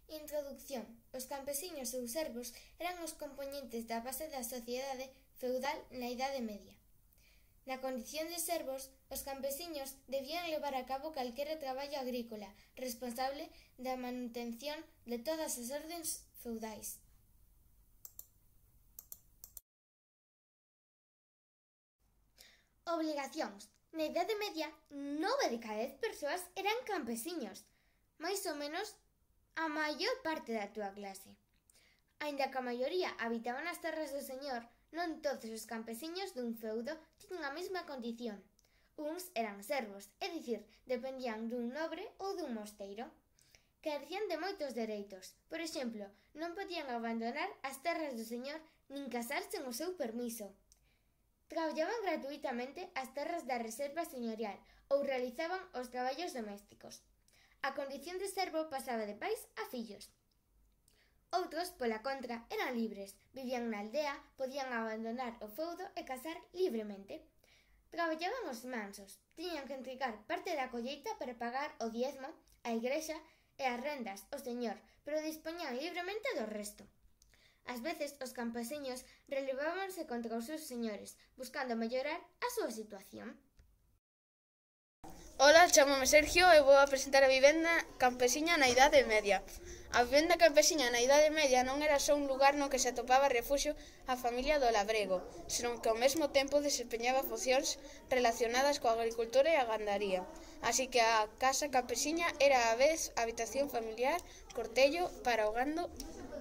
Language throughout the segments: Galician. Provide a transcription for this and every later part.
Introducción. Os campesiños ou servos eran os compoñentes da base da sociedade feudal na Idade Media. Na condición de servos, os campesiños debían levar a cabo calquera traballo agrícola, responsable da manutención de todas as ordens feudais. Obligacións. Na Idade Media, 9 de cada 10 persoas eran campesiños, máis ou menos a maior parte da túa clase. Aínda que a maioría habitaban as terras do señor, non todos os campesiños dun feudo tiñan a mesma condición. Uns eran servos, é dicir, dependían dun nobre ou dun mosteiro. Carecían de moitos dereitos. Por exemplo, non podían abandonar as terras do señor nin casar sen o seu permiso. Traballaban gratuitamente as terras da reserva señorial ou realizaban os traballos domésticos. A condición de servo pasaba de pais a fillos. Outros, pola contra, eran libres, vivían na aldea, podían abandonar o feudo e casar libremente. Traballaban os mansos, tiñan que entregar parte da colleita para pagar o diezmo, a igrexa e as rendas ao señor, pero dispoñían libremente do resto. Ás veces, os campesiños relevábanse contra os seus señores, buscando mellorar a súa situación. Ola, chamome Sergio e vou a presentar a vivenda campesiña na Idade Media. A vivenda campesiña na Idade Media non era só un lugar no que se atopaba refugio a familia do labrego, senón que ao mesmo tempo desempeñaba funcións relacionadas coa agricultura e a gandaría. Así que a casa campesiña era a vez habitación familiar, cortello para o gando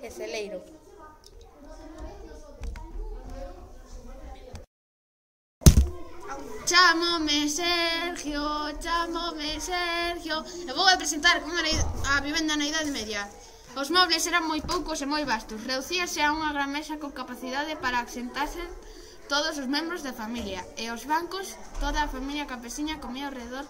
e celeiro. Chámome Sergio, e vou a presentar como era a vivenda na Idade Media. Os mobles eran moi poucos e moi vastos, reducíase a unha gran mesa con capacidade para asentarse todos os membros da familia, e os bancos, toda a familia campesiña comía ao redor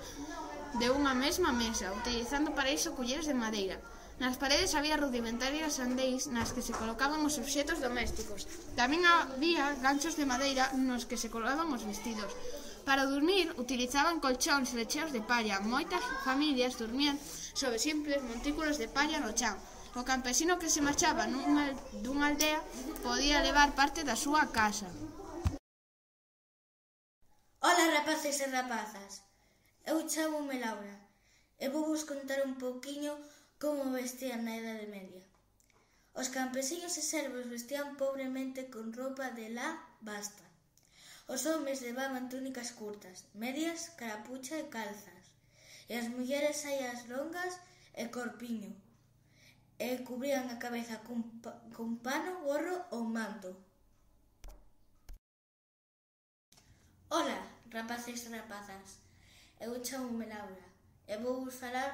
de unha mesma mesa, utilizando para iso culleres de madeira. Nas paredes había rudimentarias andeis nas que se colocaban os obxetos domésticos. Tamén había ganchos de madeira nos que se colocaban os vestidos. Para dormir, utilizaban colchóns lecheos de palla. Moitas familias dormían sobre simples montículos de palla no chan. O campesino que se marchaba dunha aldea podía levar parte da súa casa. Ola, rapaces e rapazas, eu chámome Laura e vou vos contar un pouquiño como vestían na Idade Media. Os campesiños e servos vestían pobremente con roupa de lá basta. Os homes levaban túnicas curtas, medias, carapucha e calzas, e as mulleres saias longas e corpiño, e cubrían a cabeza cun pano, gorro ou manto. Ola, rapaces e rapazas, eu chámome Laura e vou vos falar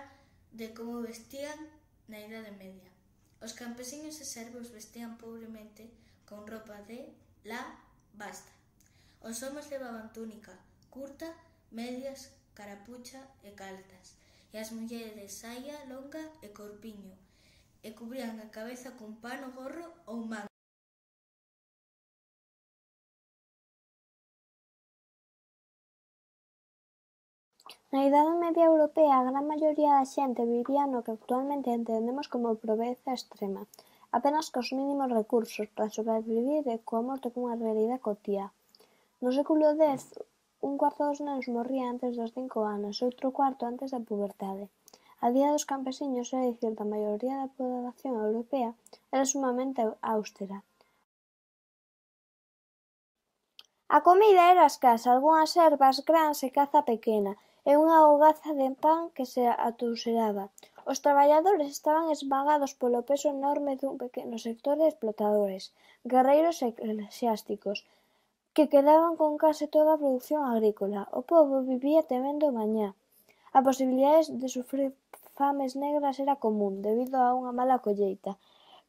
de como vestían na Idade Media. Os campesiños e servos vestían pobremente con roupa de lá basta. Os homes levaban túnica curta, medias, carapucha e calzas, e as mulleres saia longa e corpiño, e cubrían a cabeza cun pano, gorro ou manto. Na Idade Media Europea, a gran maioría da xente vivía no que actualmente entendemos como pobreza extrema, apenas cos mínimos recursos para sobrevivir e coa morte cunha realidade cotiá. No século X, un cuarto dos nenos morría antes dos 5 anos e outro cuarto antes da puberdade. A día dos campesiños, é dicir, da maioría da poboación europea, era sumamente austera. A comida era escasa, algunhas ervas, grans e caza pequena, e unha hogaza de pan que se atouseraba. Os traballadores estaban esmagados polo peso enorme dun pequeno sector de explotadores, guerreiros e eclesiásticos, que quedaban con case toda a produción agrícola. O pobo vivía temendo o mañá. A posibilidade de sufrir fames negras era común, debido a unha mala colleita,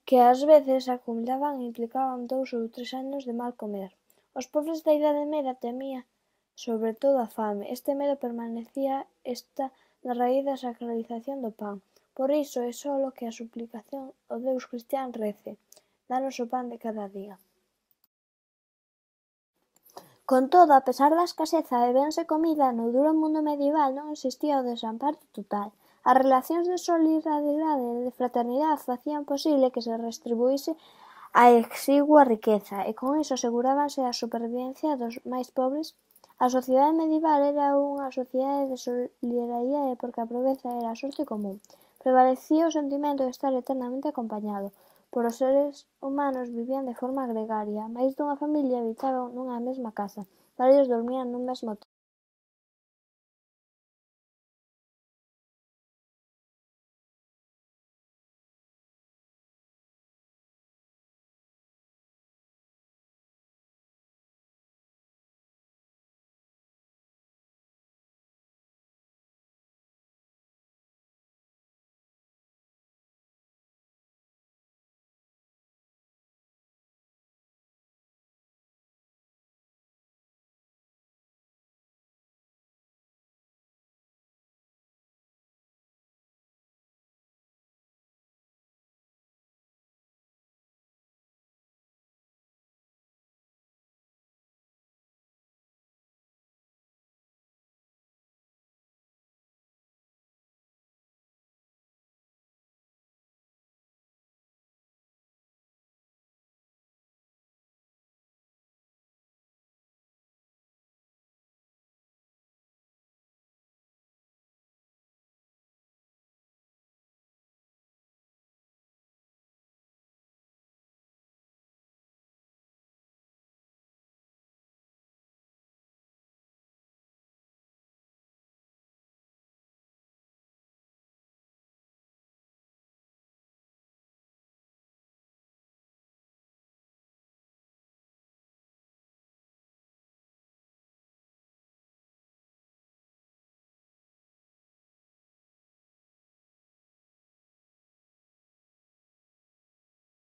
que ás veces acumulaban e implicaban 2 ou 3 anos de mal comer. Os pobres da Idade Media temían sobre todo a fame. Este medo permanecía na raíz da sacralización do pan. Por iso é solo que a suplicación ao Deus cristián rece: danos o pan de cada día. Con todo, a pesar da escaseza de bens e comida, no duro mundo medieval non existía o desamparo total. As relacións de solidaridade e de fraternidade facían posible que se restribuíse a exigua riqueza, e con iso asegurábanse a supervivencia dos máis pobres. A sociedade medieval era unha sociedade de solidariedade porque a pobreza era a sorte común. Prevalecía o sentimento de estar eternamente acompañado. Por os seres humanos vivían de forma gregaria. Máis dunha familia habitaban nunha mesma casa. Varios dormían nun mesmo